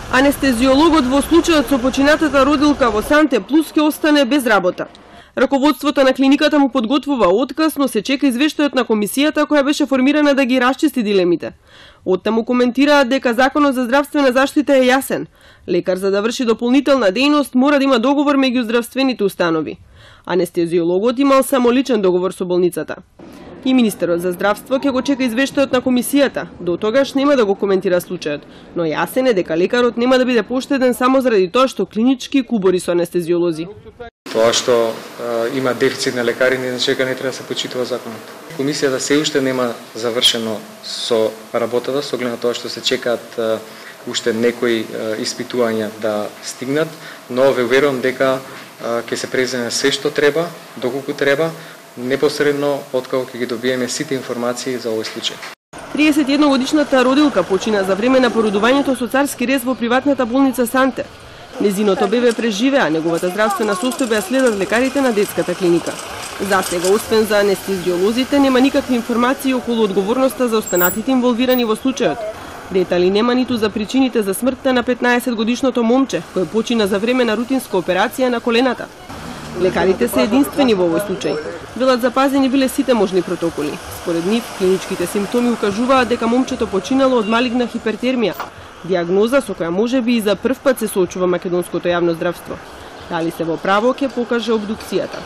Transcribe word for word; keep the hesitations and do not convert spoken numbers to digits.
Анестезиологот во случајот со починатата родилка во Санте Плус ќе остане без работа. Раководството на клиниката му подготвува отказ, но се чека извештајот на комисијата која беше формирана да ги расчисти дилемите. Оттаму коментираат дека Законот за здравствена заштита е јасен. Лекар за да врши дополнителна дејност мора да има договор меѓу здравствените установи. Анестезиологот имал само личен договор со болницата. И министерот за здравство ќе го чека извештајот на комисијата. До тогаш нема да го коментира случајот, но јасен е дека лекарот нема да биде поштеден само заради тоа што клинички кубори со анестезиолози. Тоа што а, има дефицит на лекари, не чека не треба да се почитува законот. Комисијата се уште нема завршено со работата, со оглед на тоа што се чекаат а, уште некои а, испитувања да стигнат, но ве уверувам дека а, ќе се преземе се што треба, доколку треба, непосредно откако ќе ги добиеме сите информации за овој случај. триесет и една годишната родилка почина за време на породувањето со царски рез во приватната болница Санте. Незиното бебе преживеа, а неговата здравствена состојба ја следат лекарите на детската клиника. За сега, освен за анестезиолозите, нема никакви информации околу одговорноста за останатите инволвирани во случајот. Детали нема ниту за причините за смртта на петнаесет годишното момче, кој почина за време на рутинска операција на колената. Лекарите се единствени во овој случај. Велат запазени биле сите можни протоколи. Според нив, клиничките симптоми укажуваат дека момчето починало од малигна хипертермија, диагноза со која можеби и за прв пат се соочува македонското јавно здравство. Дали се во право ќе покаже обдукцијата.